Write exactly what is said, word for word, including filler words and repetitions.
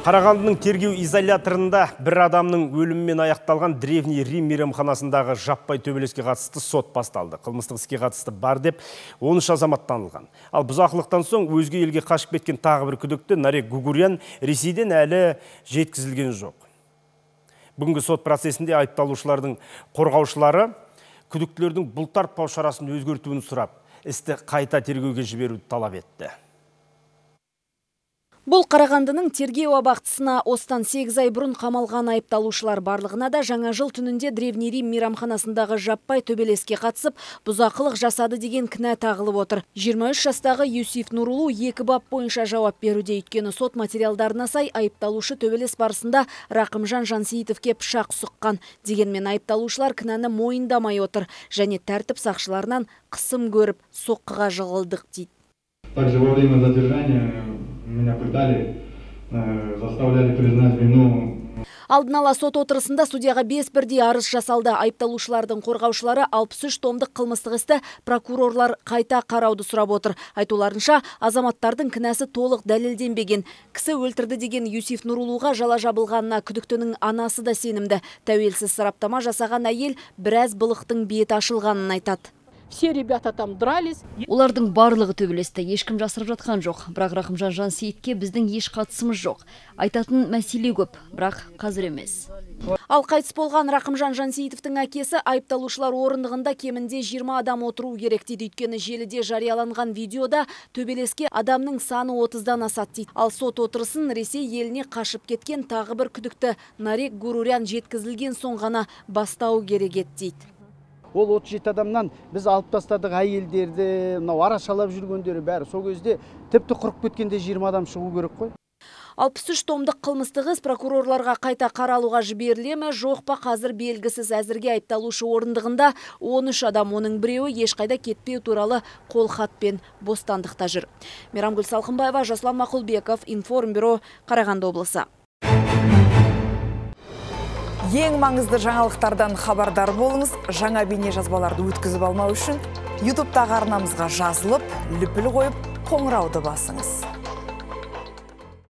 Қарағандының тергеу изоляторында бір адамның өлімімен аяқталған древний Рим мейрамханасындағы жаппай төбелеске қатысты сот басталды. Қылмыстық іске қатысты бар деп он үш азамат танылған. Ал бұзақылықтан соң өзге елге қашып кеткен тағы бір күдікті Нарек Гугурян Ресейден әлі жеткізілген жоқ. Бүгінгі сот процесінде айыпталушылардың қорғаушылары күдіктілердің бұлтартпау шарасын өзгертуін сұрап, істі қайта тергеуге жіберуді талап етті. Бұл Қарағандының тергеу абақтысына остан сегіз ай бұрын қамалған айыпталушылар барлығына да жаңа жыл түнінде Древний Рим мейрамханасындағы жаппай төбелеске қатысып, бұзақылық жасады деген кінә тағылып отыр. жиырма үш жастағы Юсиф Нурулу екі бап бойынша жауап беруде, өйткені сот материалдарына сай айыпталушы төбелес барысында Рақымжан Жансейітовке пышақ сұққан. Дегенмен айыпталушылар кінәні мойындамай отыр және тәртіп сақшыларынан қысым көріп, соққыға жығылдық дейді. Также во время задержания меня пытали, заставляли признать вину. Алдын ала сот отырысында судьяға бес бірдей арыз жасалды. Айыпталушылардың қорғаушылары алпыс үш томдық қылмыстық істі прокурорлар қайта қарауды сұрап отыр. Айтуларынша, азаматтардың кінәсі толық дәлелденбеген. Кісі өлтірді деген Юсиф Нурулуға жала жабылғанына күдіктінің анасы да сенімді. Тәуелсіз сараптама жасаған әйел біраз былықтың беті ашылғанын айтады. Все ребята там дрались. Олардың барлығы төбелесті, ешкім жасырып жатқан жоқ. Бірақ Рақымжан Жансейітке біздің еш қатысымыз жоқ. Айтатын мәселе көп, бірақ қазір емес. Ал қайтыс болған Рақымжан Жансейітовтің әкесі айыпталушылар орындығында кемінде жиырма адам отыру керек дейді. Өйткені желіде жарияланған видеода төбелеске адамның саны отыздан асады дейді. Ал сот отырысын Ресей еліне қашып кеткен тағы бір күдікті Нарек Гугурян жеткізілген соң ғана бастау керек еді дейді. Ол отыз жеті адамнан біз алып тастадық әйелдерді, мынау арашалап жүргендері бәрі. Сол кезде тіпті құрып кеткенде жиырма адам шығу керек қой. алпыс үш томдық қылмыстық іс прокурорларға қайта қаралуға жіберіле ме, жоқ па қазір белгісіз. Әзірге айыпталушы орындығында он үш адам, оның біреуі ешқайда кетпеу туралы қолхатпен бостандықта жүр. Мейрамгүл Салқынбаева, Жасұлан Мақұлбеков, Информбюро, Қарағанды облысы. Ең маңызды жаңалықтардан хабардар болыңыз. Жаңа бейне жазбаларды өткізіп алмау үшін ютубтағы арнамызға жазылып, лүпіл қойып, қоңырауды басыңыз.